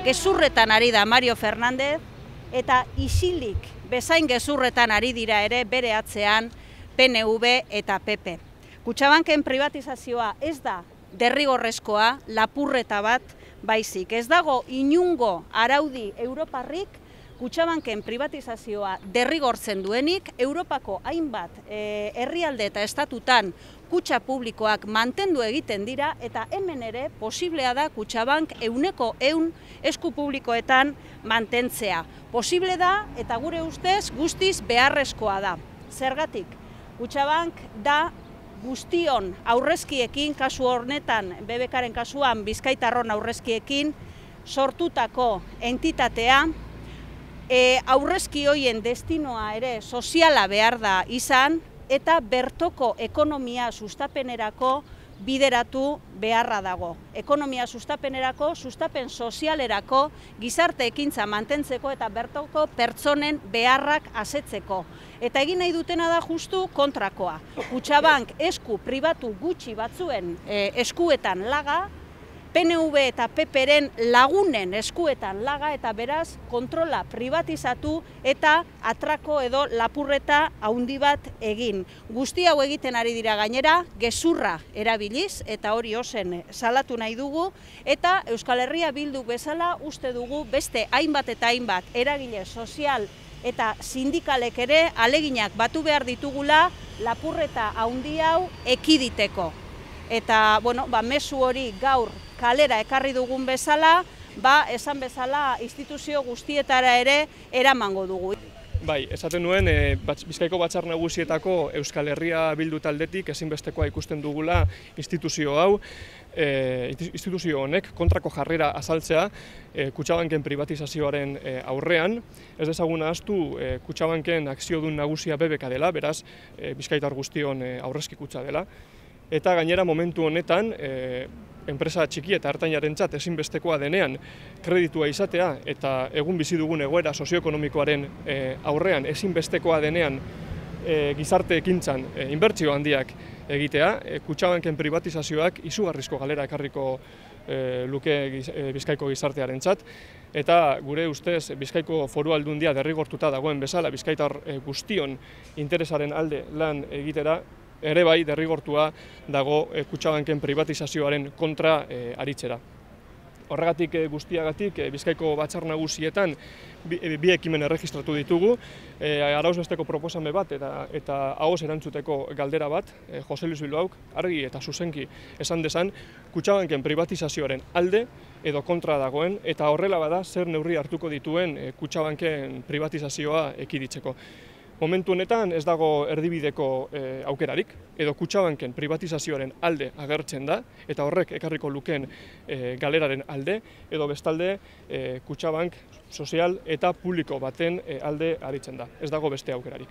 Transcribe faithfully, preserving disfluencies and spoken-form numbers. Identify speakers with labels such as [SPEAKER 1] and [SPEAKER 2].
[SPEAKER 1] gezurretan ari da Mario Fernández, eta isilik bezain gezurretan ari dira ere bere atzean P N V eta P P. Kutxabanken privatizazioa ez da derrigorrezkoa, lapurreta bat baizik. Ez dago inungo araudi europarrik Kutxabanken privatizazioa derrigortzen duenik, Europako hainbat e, herrialde eta estatutan kutxa publikoak mantendu egiten dira, eta hemen ere posiblea da Kutxabank euneko eun esku publikoetan mantentzea. Posible da eta gure ustez guztiz beharrezkoa da. Zergatik, Kutxabank da guztion aurrezkiekin, kasu honetan, B B Karen kasuan Bizkaitarron aurrezkiekin sortutako entitatea, E, aurrezki hoien destinoa ere soziala behar da izan, eta bertoko ekonomia sustapenerako bideratu beharra dago. Ekonomia sustapenerako, sustapen sozialerako, gizarte ekintza mantentzeko eta bertoko pertsonen beharrak asetzeko. Eta egin nahi dutena da justu kontrakoa. Kutxabank esku pribatu gutxi batzuen e, eskuetan laga, P N V eta P Pren lagunen eskuetan laga, eta beraz kontrola privatizatu eta atrako edo lapurreta handi bat egin. Guzti hau egiten ari dira gainera, gezurra erabiliz, eta hori ozen salatu nahi dugu, eta Euskal Herria Bildu bezala uste dugu beste hainbat eta hainbat eragile sozial eta sindikalek ere aleginak batu behar ditugula lapurreta handi hau ekiditeko. Eta, bueno, ba, mezu hori gaur kalera ekarri dugun bezala, ba, esan bezala instituzio guztietara ere eramango dugu.
[SPEAKER 2] Bai, esaten nuen, e, Bizkaiko Batzar Nagusietako Euskal Herria Bildu taldetik ezinbestekoa ikusten dugula instituzio hau, e, instituzio honek kontrako jarrera azaltzea e, Kutxabanken privatizazioaren e, aurrean. Ez dezagun ahaztu, e, Kutxabanken akziodun nagusia B B K dela, beraz e, Bizkaitar guztion e, aurrezki kutxa dela. Eta gainera momentu honetan, e, enpresa txiki eta ertainarentzat ezinbestekoa denean kreditua izatea, eta egun bizi dugun egoera sozioekonomikoaren e, aurrean ezinbestekoa denean e, gizarte ekintzan e, inbertsio handiak egitea, e, Kutxabanken privatizazioak izugarrizko galera ekarriko e, luke giz, e, Bizkaiko gizartearentzat, eta gure ustez Bizkaiko Foru Aldundia derrigortuta dagoen bezala Bizkaitar e, guztion interesaren alde lan egitera, ere bai derrigortua dago e, Kutxabanken privatizazioaren kontra e, aritzera. Horregatik e, guztiagatik e, Bizkaiko Batzar Nagusietan bi, e, bi ekimen erregistratu ditugu, e, arauzbesteko proposame bat eta, eta ahoz erantzuteko galdera bat, e, Jose Luis Bilbaok argi eta zuzenki esan dezan Kutxabanken privatizazioaren alde edo kontra dagoen, eta horrela bada zer neurri hartuko dituen e, Kutxabanken privatizazioa ekiditzeko. Momentu honetan ez dago erdibideko e, aukerarik, edo Kutxabanken privatizazioaren alde agertzen da, eta horrek ekarriko lukeen e, galeraren alde, edo bestalde e, Kutxabank sozial eta publiko baten e, alde aritzen da. Ez dago beste aukerarik.